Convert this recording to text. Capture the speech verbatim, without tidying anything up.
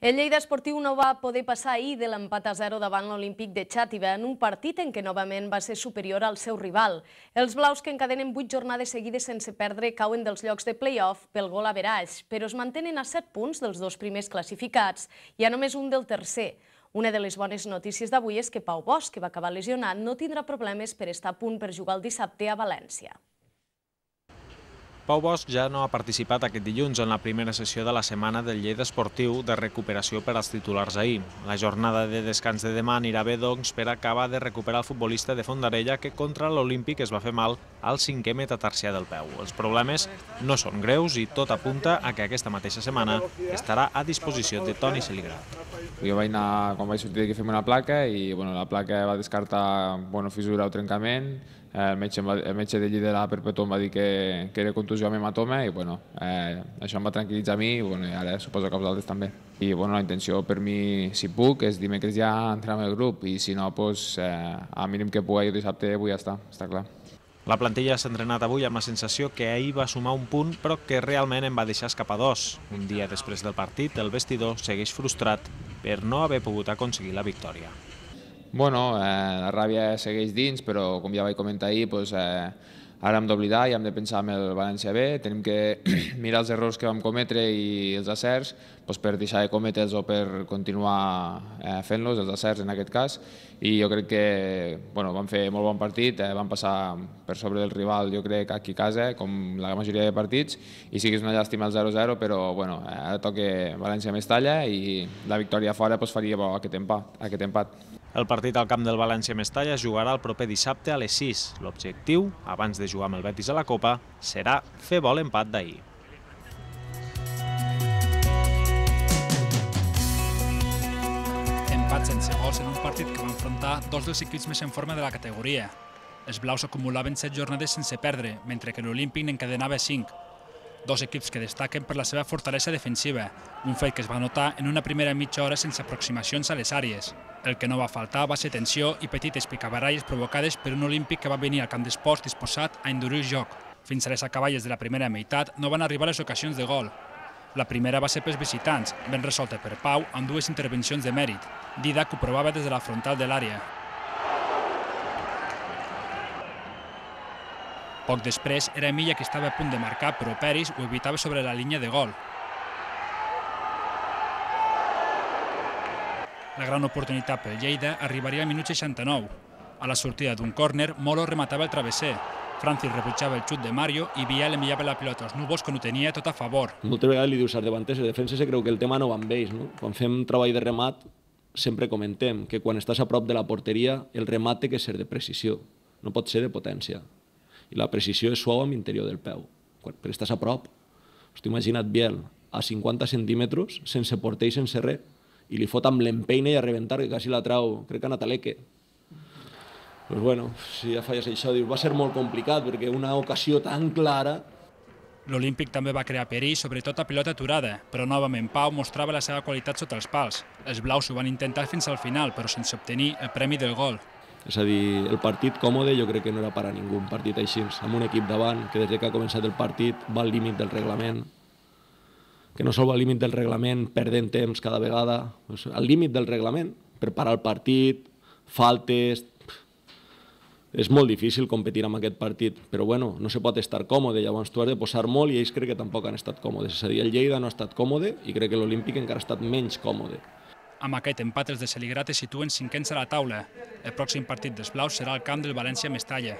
El Lleida Esportiu no va poder passar ahir de l'empat a zero davant l'Olímpic de Xàtiva en un partit en què novament va ser superior al seu rival. Els blaus, que encadenen vuit jornades seguides sense perdre, cauen dels llocs de play-off pel gol average, però es mantenen a set punts dels dos primers classificats i a només un del tercer. Una de les bones notícies d'avui és que Pau Bosch, que va acabar lesionat, no tindrà problemes per estar a punt per jugar el dissabte a València. Pau Bosch ja no ha participat aquest dilluns en la primera sessió de la setmana del Lleida Esportiu de recuperació per als titulars ahir. La jornada de descans de demà anirà bé, doncs, per acabar de recuperar el futbolista de Fondarella, que contra l'Olímpic es va fer mal al cinquè metatarsià del peu. Els problemes no són greus i tot apunta a que aquesta mateixa setmana estarà a disposició de Toni Celigrat. Jo vaig anar, quan vaig sortir d'aquí, fer una placa i bueno, la placa va descartar bueno, fissura o trencament. El metge, el metge de Lleida de la Perpetua em va dir que, que era contusió amb hematoma i bueno, eh, això em va tranquil·litzar a mi i, bueno, i ara suposo que els altres també. I bueno, la intenció per mi, si puc, és dimecres ja entrar amb el grup i si no, pues, eh, al mínim que pugui jo dissabte vull estar, està clar. La plantilla s'ha entrenat avui amb la sensació que ahir va sumar un punt però que realment en va deixar escapar dos. Un dia després del partit, el vestidor segueix frustrat per no haver pogut aconseguir la victòria. Bueno, eh, la ràbia segueix dins, però com ja vaig comentar ahir, doncs, eh, ara hem d'oblidar i hem de pensar en el València B. Tenim que mirar els errors que vam cometre i els acerts doncs, per deixar de cometre'ls o per continuar eh, fent-los, els acerts en aquest cas. I jo crec que bueno, vam fer molt bon partit, eh, vam passar per sobre del rival, jo crec, aquí a casa, com la majoria de partits, i sí que és una llàstima el zero zero, però bueno, ara toca València-Mestalla i la victòria fora doncs, faria bo aquest empat. Aquest empat. El partit al camp del València-Mestalla es jugarà el proper dissabte a les sis. L'objectiu, abans de jugar amb el Betis a la Copa, serà fer bo l'empat d'ahir. Empat sense gols en un partit que va enfrontar dos dels equips més en forma de la categoria. Els blaus acumulaven set jornades sense perdre, mentre que l'Olímpic n'encadenava cinc. Dos equips que destaquen per la seva fortalesa defensiva, un fet que es va notar en una primera mitja hora sense aproximacions a les àrees. El que no va faltar va ser tensió i petites picabaralles provocades per un Olímpic que va venir al camp d'esports disposat a endurir el joc. Fins a les acaballes de la primera meitat no van arribar les ocasions de gol. La primera va ser pels visitants, ben resolta per Pau amb dues intervencions de mèrit. Didac ho provava des de la frontal de l'àrea. Poc després era Milla qui estava a punt de marcar, però Peris ho evitava sobre la línia de gol. La gran oportunitat pel Lleida arribaria al minut seixanta-nou. A la sortida d'un córner, Molo rematava el travesser. Francis rebutjava el xut de Mario i Biel enviava la pilota als núvols quan ho tenia tot a favor. Moltes vegades li dius als davanters, els defenses se creu que el tema no va amb ells. No? Quan fem treball de remat, sempre comentem que quan estàs a prop de la porteria, el remat té que ser de precisió, no pot ser de potència. I la precisió és suau amb l'interior del peu. Però estàs a prop. Hosti, imagina't Biel a cinquanta centímetres, sense porter i sense res, i li fot amb l'empeina i a rebentar, que quasi la trau, crec que a Nataleque. Doncs bueno, si ja falles això, va ser molt complicat, perquè una ocasió tan clara... L'Olímpic també va crear perill, sobretot a pilota aturada, però novament Pau mostrava la seva qualitat sota els pals. Els blaus ho van intentar fins al final, però sense obtenir el premi del gol. És a dir, el partit còmode jo crec que no era per a ningú, un partit així, amb un equip davant que des que ha començat el partit va al límit del reglament, que no sol va al límit del reglament perdent temps cada vegada, al límit del reglament, per parar el partit, faltes... És molt difícil competir amb aquest partit, però bueno, no se pot estar còmode, llavors tu has de posar molt i ells crec que tampoc han estat còmodes. És a dir, el Lleida no ha estat còmode i crec que l'Olímpic encara ha estat menys còmode. Amb aquest empat els de Celigrat es situen cinquens a la taula. El pròxim partit dels blaus serà al camp del València-Mestalla.